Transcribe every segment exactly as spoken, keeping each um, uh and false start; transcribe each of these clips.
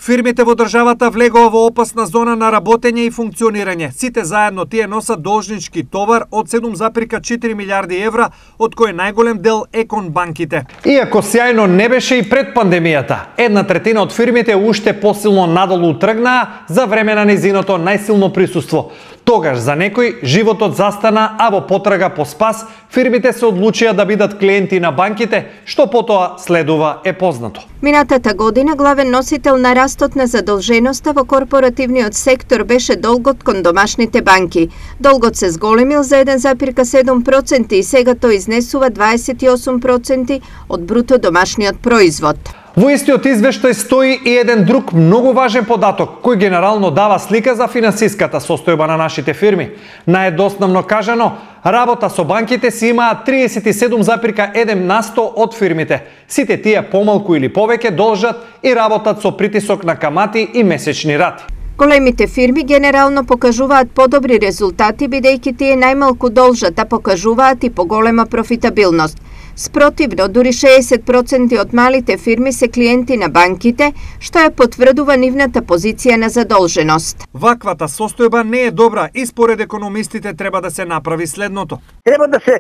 Фирмите во државата влегоа во опасна зона на работење и функционирање. Сите заедно тие носат должнички товар од седум зарем четири милијарди евра, од кој најголем дел е кон банките. Иако сјајно не беше и пред пандемијата, една третина од фирмите уште посилно надолу тргнаа за време на незиното најсилно присуство. Тогаш за некој животот застана, а во потрага по спас фирмите се одлучија да бидат клиенти на банките, што потоа следува е познато. Минатата година главен носител на растот на задолженоста во корпоративниот сектор беше долгот кон домашните банки. Долгот се зголемил за еден зарем седум проценти и сега тој изнесува дваесет и осум проценти од бруто домашниот производ. Во истиот извештај стои и еден друг многу важен податок, кој генерално дава слика за финансиската состојба на нашите фирми. Најдоснавно кажано, работа со банките си имаат триесет и седум зарем еден на сто од фирмите. Сите тие помалку или повеќе должат и работат со притисок на камати и месечни рати. Големите фирми генерално покажуваат подобри резултати, бидејќи тие најмалку должат, а покажуваат и поголема профитабилност. Спротивно, дури шеесет проценти од малите фирми се клиенти на банките, што ја потврдува нивната позиција на задолженост. Ваквата состојба не е добра и според економистите треба да се направи следното. Треба да се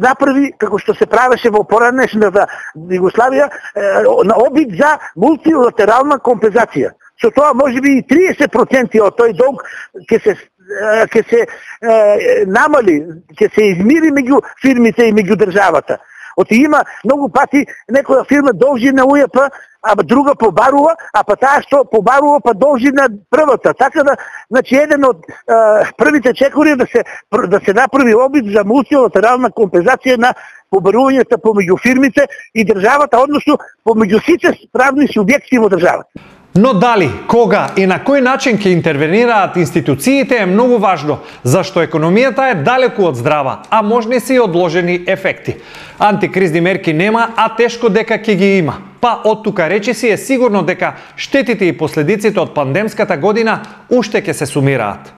направи, како што се правеше во поранешната Југославија, на обид за мултилатерална компензација. Со тоа можеби и триесет проценти од тој долг ќе се ќе се е, намали, ќе се измири меѓу фирмите и меѓу државата. Оти има многу пати некоја фирма должи на УЈП, а друга побарува, а па таа што побарува па должи на првата. Така да, значи еден од е, првите чекори да се да се направи обид за мултилатерална компензација на побарувањата помеѓу фирмите и државата, односно помеѓу сите правни субјекти во државата. Но дали, кога и на кој начин ќе интервенираат институциите е многу важно, зашто економијата е далеку од здрава, а можни се и одложени ефекти. Антикризни мерки нема, а тешко дека ќе ги има. Па од тука речиси е сигурно дека штетите и последиците од пандемската година уште ќе се сумираат.